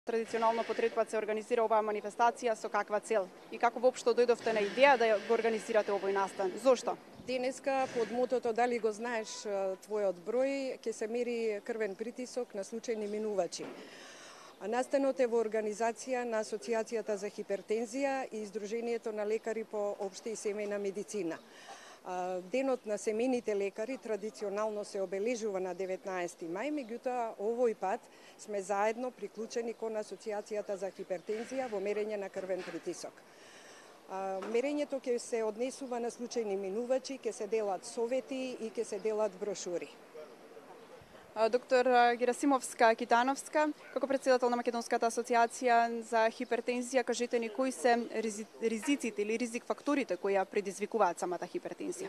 Традиционално по трети пат се организира оваа манифестација, со каква цел? И како воопшто дојдовте на идеја да го организирате овој настан? Зошто? Денеска под мотото "Дали го знаеш твојот број" ќе се мери крвен притисок на случајни минувачи. Настанот е во организација на Асоцијацијата за хипертензија и Издруженијето на лекари по општа и семејна медицина. Денот на семејните лекари традиционално се обележува на 19 мај, меѓутоа овој пат сме заедно приклучени кон Асоцијацијата за хипертензија во мерење на крвен притисок. Мерењето ќе се однесува на случајни минувачи, ќе се делат совети и ќе се делат брошури. Доктор Герасимовска-Китановска, како председател на Македонската асоциација за хипертензија, кажете ни кои се ризиците или ризик факторите кои ја предизвикуваат самата хипертензија?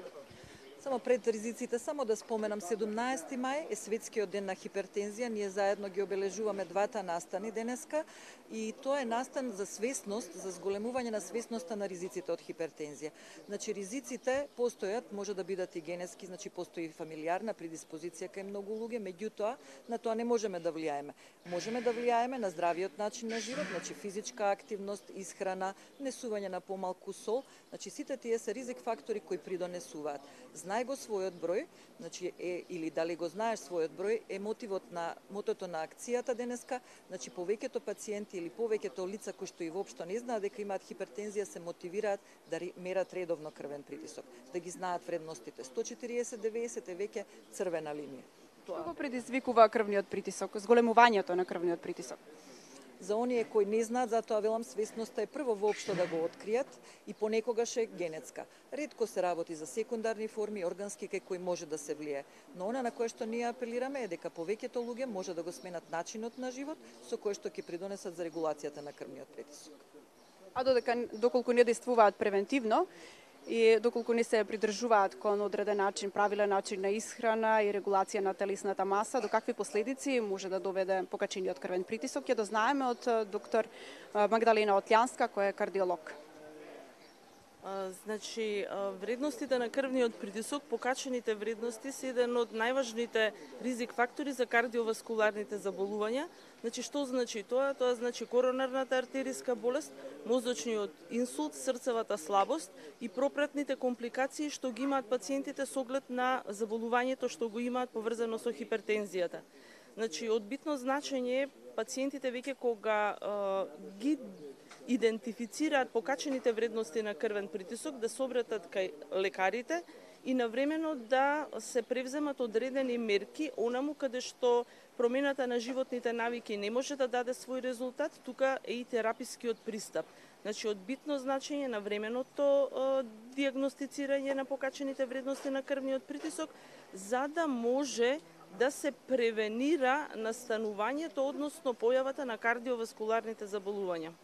Само пред ризиците, само да споменам, 17 мај е светскиот ден на хипертензија. Ние заедно ги обележуваме двата настани денеска и тоа е настан за свесност, за зголемување на свесноста на ризиците од хипертензија. Значи ризиците постојат, може да бидат и генетски, значи постои фамилиарна предиспозиција кај многу луѓе, меѓутоа на тоа не можеме да влијаеме. Можеме да влијаеме на здравиот начин на живот, значи физичка активност, исхрана, внесување на помалку сол, значи сите тие се ризик фактори кои придонесуваат. Знај го својот број, значи или дали го знаеш својот број, е мотото на акцијата денеска, значи повеќето пациенти или повеќето лица кои што и воопшто не знаат дека имаат хипертензија се мотивираат да мерат редовно крвен притисок, да ги знаат вредностите. 140/90 е веќе црвена линија. Што го предизвикува крвниот притисок, зголемувањето на крвниот притисок? За оние кои не знаат, затоа велам, свесноста е прво воопшто да го откријат и понекогаш е генетска. Ретко се работи за секундарни форми, органски кај кои може да се влие. Но она на кое што ние апелираме е дека повеќето луѓе може да го сменат начинот на живот со кој што ќе придонесат за регулацијата на крвниот притисок. А доколку не действуваат превентивно и доколку не се придржуваат кон одреден начин, правилен начин на исхрана и регулација на телесната маса, до какви последици може да доведе покачениот крвен притисок, ќе дознаеме од доктор Магдалена Отлјанска, која е кардиолог. Значи, вредностите на крвниот притисок, покачените вредности се еден од најважните ризик фактори за кардиоваскуларните заболувања. Значи, што значи тоа? Тоа значи коронарната артериска болест, мозочниот инсулт, срцевата слабост и пропратните компликации што ги имаат пациентите со оглед на заболувањето што го имаат поврзано со хипертензијата. Значи, од битно значење е пациентите веќе кога ги идентифицираат покачените вредности на крвен притисок, да се обратат кај лекарите и навремено да се превземат одредени мерки, онаму каде што промената на животните навики не може да даде свој резултат, тука е и терапискиот пристап. Значи, од битно значење на временото диагностицирање на покачените вредности на крвниот притисок, за да може да се превенира настанувањето, односно појавата на кардиоваскуларните заболувања.